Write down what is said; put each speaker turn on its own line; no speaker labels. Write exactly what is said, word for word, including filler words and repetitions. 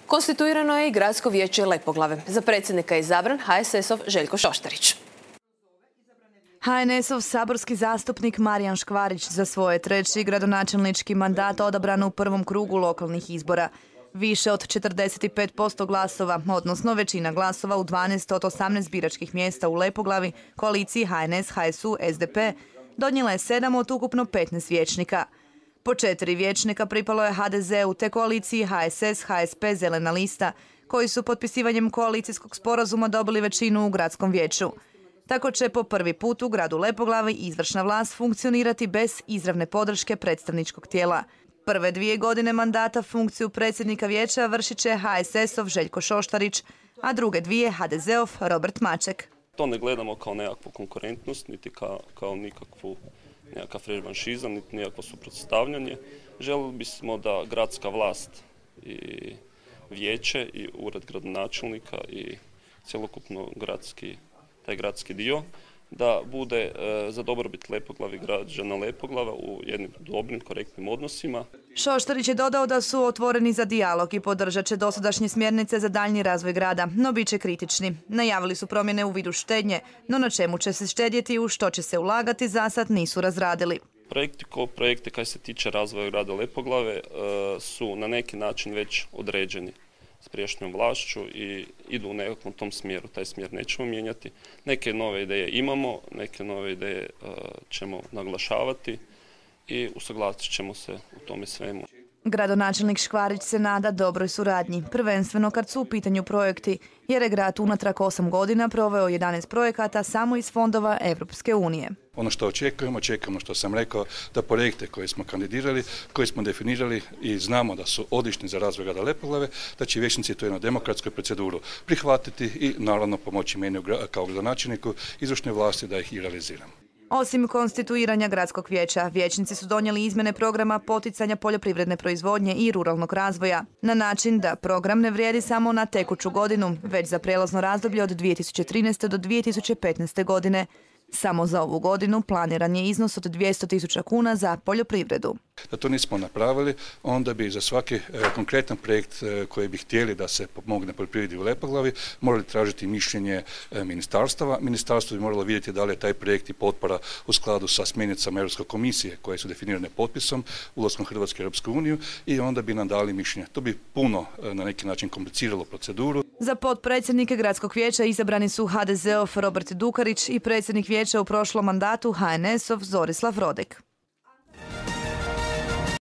Konstituirano je i Gradsko vijeće Lepoglave. Za predsjednika je izabran ha es es ov Željko Šoštarić.
ha en es ov saborski zastupnik Marijan Škvarić za svoje treći gradonačelnički mandat odabran u prvom krugu lokalnih izbora. Više od četrdeset pet posto glasova, odnosno većina glasova u dvanaest od osamnaest biračkih mjesta u Lepoglavi, koaliciji ha en es, ha es u, es de pe, donijela je sedam od ukupno petnaest vijećnika. Po četiri vijećnika pripalo je ha de zeu te koaliciji ha es es, ha es pe, Zelena lista, koji su potpisivanjem koalicijskog sporazuma dobili većinu u gradskom vijeću. Tako će po prvi put u gradu Lepoglavi izvršna vlast funkcionirati bez izravne podrške predstavničkog tijela. Prve dvije godine mandata funkciju predsjednika vijeća vršit će ha es es ov Željko Šoštarić, a druge dvije ha de zeov Robert Maček.
To ne gledamo kao nekakvu konkurentnost, niti kao, kao nikakvu nekakav revanšizam, niti nekakvo suprotstavljanje. Želili bismo da gradska vlast i vijeće i ured gradonačelnika i cjelokupno gradski, taj gradski dio da bude e, za dobrobit Lepoglavi, građana Lepoglava u jednim dobrim, korektnim odnosima.
Šoštarić je dodao da su otvoreni za dijalog i podržat će dosadašnje smjernice za daljnji razvoj grada, no bit će kritični. Najavili su promjene u vidu štednje, no na čemu će se štedjeti i u što će se ulagati zasad nisu razradili.
Projekti ko projekte kaj se tiče razvoja grada Lepoglave e, su na neki način već određeni s prijašnjom vlašću i idu u nekakvom tom smjeru. Taj smjer nećemo mijenjati. Neke nove ideje imamo, neke nove ideje uh, ćemo naglašavati i usuglasit ćemo se u tome svemu.
Gradonačelnik Škvarić se nada dobroj suradnji, prvenstveno kad su u pitanju projekti, jer je grad unatrag osam godina proveo jedanaest projekata samo iz fondova Evropske unije.
Ono što očekujemo, očekujemo što sam rekao, da projekte koje smo kandidirali, koje smo definirali i znamo da su odlični za razvoj grada Lepoglave, da će vijećnici tu jednu demokratsku proceduru prihvatiti i naravno pomoći meni kao gradonačelniku izvršne vlasti da ih i realiziramo.
Osim konstituiranja gradskog vijeća, vijećnici su donijeli izmjene programa poticanja poljoprivredne proizvodnje i ruralnog razvoja, na način da program ne vrijedi samo na tekuću godinu, već za prijelazno razdoblje od dvije tisuće trinaeste. do dvije tisuće petnaeste. godine. Samo za ovu godinu planiran je iznos od dvjesto tisuća kuna za poljoprivredu.
Da to nismo napravili, onda bi za svaki e, konkretan projekt e, koji bi htjeli da se pomogne poljoprivredi u Lepoglavi morali tražiti mišljenje e, ministarstava. Ministarstvo bi moralo vidjeti da li je taj projekt i potpora u skladu sa smjernicama Europske komisije koje su definirane potpisom ulaskom Hrvatske u Europsku uniju i onda bi nam dali mišljenje. To bi puno e, na neki način kompliciralo proceduru.
Za potpredsjednike gradskog vijeća izabrani su ha de zeov Robert Dukarić i predsjednik vijeća u prošlom mandatu ha en es ov Zorislav Rodek.